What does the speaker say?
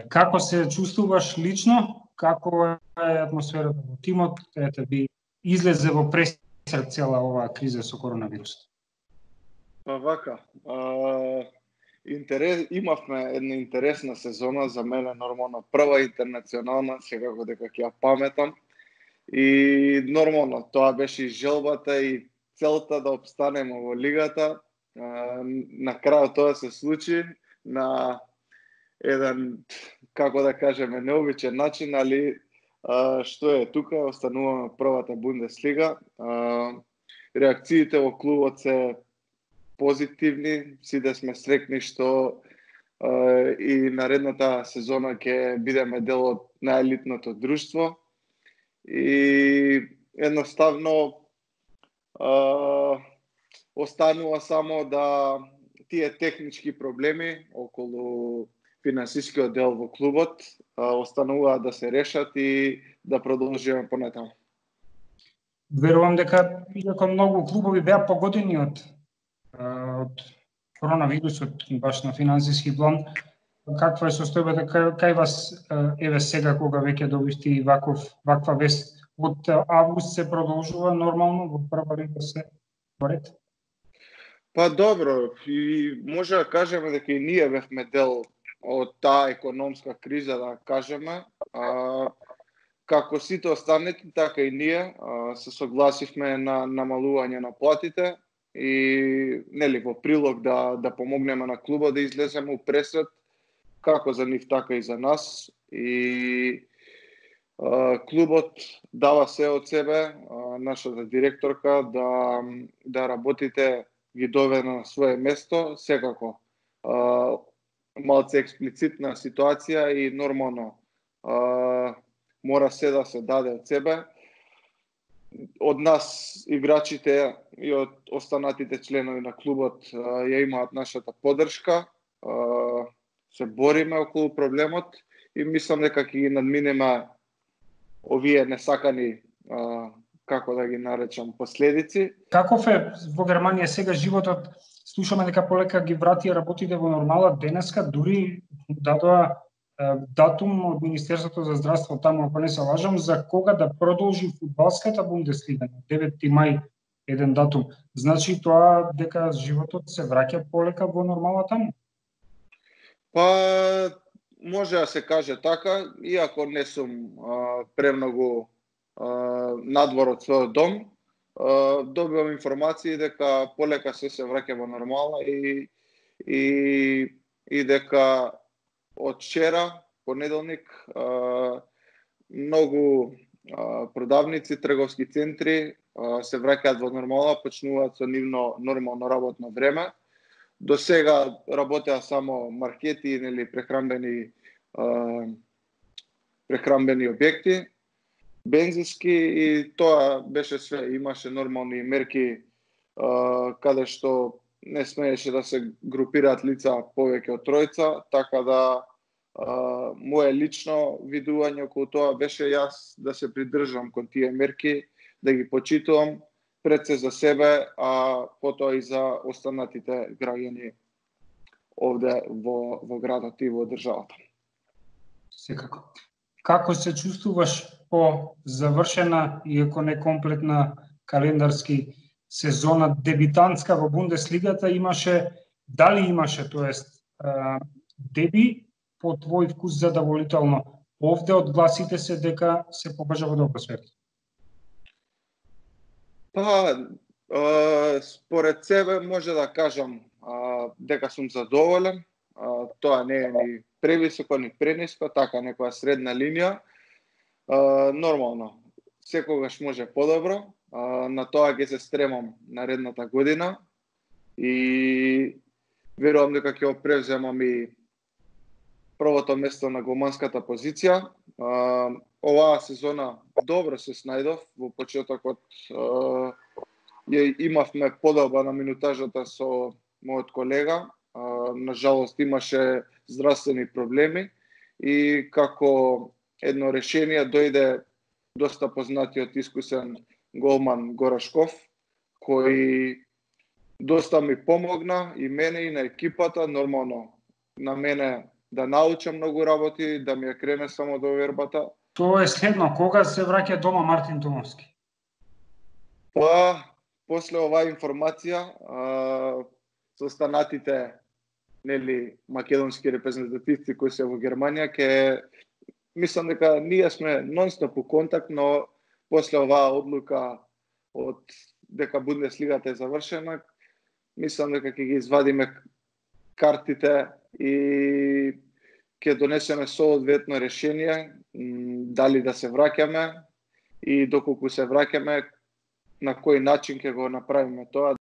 Како се чувствуваш лично? Како е атмосферата во тимот? Ете би излезе во пресред цела оваа криза со коронавирусот. Па вака, имавме една интересна сезона, за мене нормално прва интернационална, секако дека ќе ја паметам. И нормално тоа беше и желбата и целта да обстанеме во лигата. На крајот тоа се случи на еден, како да кажеме, необичен начин, али што е тука, остануваме првата Бундеслига. Реакциите во клубот се позитивни, сите сме срекни што и наредната сезона ќе бидеме дел од најелитното друштво. И едноставно останува само да тие технички проблеми околу финансискиот дел во клубот остануваат да се решат и да продолжиме понатаму. Верувам дека иако многу клубови беа погодени од коронавирусот баш на финансиски план, каква е состојбата кај вас еве сега кога веќе добивте и ваква вест од август се продолжува нормално во прва лига се поред? Па добро, и може да кажеме дека и ние бевме дел од таа економска криза, да кажеме. Како сите останати, така и ние се согласивме на намалување на платите и нели во прилог да помогнеме на клубот да излеземе у пресред, како за нив, така и за нас. И клубот дава се од себе, нашата директорка да работите ги доведе на свое место, секако малце експлицитна ситуација и нормално мора се да се даде од себе. Од нас играчите и од останатите членови на клубот ја имаат нашата поддршка. Се бориме околу проблемот и мислам дека ќе ги надминеме овие несакани, како да ги наречам, последици. Каков е во Германија сега животот? Слушаме дека полека ги вратија работите во нормала. Денеска дури дадоа датум од Министерството за здравство таму, ако не се лажам, за кога да продолжи фудбалската Бундеслига на 9 мај еден датум. Значи тоа дека животот се враќа полека во нормала таму? Па може да се каже така, иако не сум премногу надвор од својот дом, добивам информации дека полека се враќа во нормала и дека од вчера, понеделник, многу продавници, трговски центри се враќаат во нормала, почнуваат со нивно нормално работно време. До сега работеа само маркети, нели прехранбени објекти, бензински, и тоа беше све. Имаше нормални мерки каде што не смееше да се групираат лица повеќе од тројца, така да моje лично видување околу тоа беше јас да се придржам кон тие мерки, да ги почитувам пред се за себе, а потоа и за останатите граѓани овде во градот и во државата. Секако. Како се чувствуваш по завршена, иако не комплетна календарски сезона дебитантска во Бундеслигата? Дали имаше, тоест, деби по твој вкус задоволително? Овде од гласите се дека се покажа во добро свет. Па, според себе може да кажам дека сум задоволен. Тоа не е ни превисоко, ни прениско, така некоја средна линија. Нормално, секогаш може подобро. На тоа ќе се стремам наредната година и верувам дека ќе го превземам и првото место на голманската позиција. Оваа сезона добро се снајдов. Во почетокот имавме подоба на минутажата со мојот колега. Нажалост имаше здравствени проблеми и како едно решение дојде доста познатиот искусен голман Горашков, кој доста ми помогна и мене и на екипата. Нормално, на мене да научам многу работи, да ми ја крене само до вербата. Тоа е следно, кога се враќа дома Мартин Томовски? Па, после оваа информација, со останатите македонски репрезентативци кои се во Германија, мислам дека ние сме нон-стоп у контакт, но после оваа одлука од дека Бундеслигата е завршена, мислам дека ќе ги извадиме картите и ќе донесеме соодветно решение дали да се враќаме и доколку се враќаме на кој начин ќе го направиме тоа.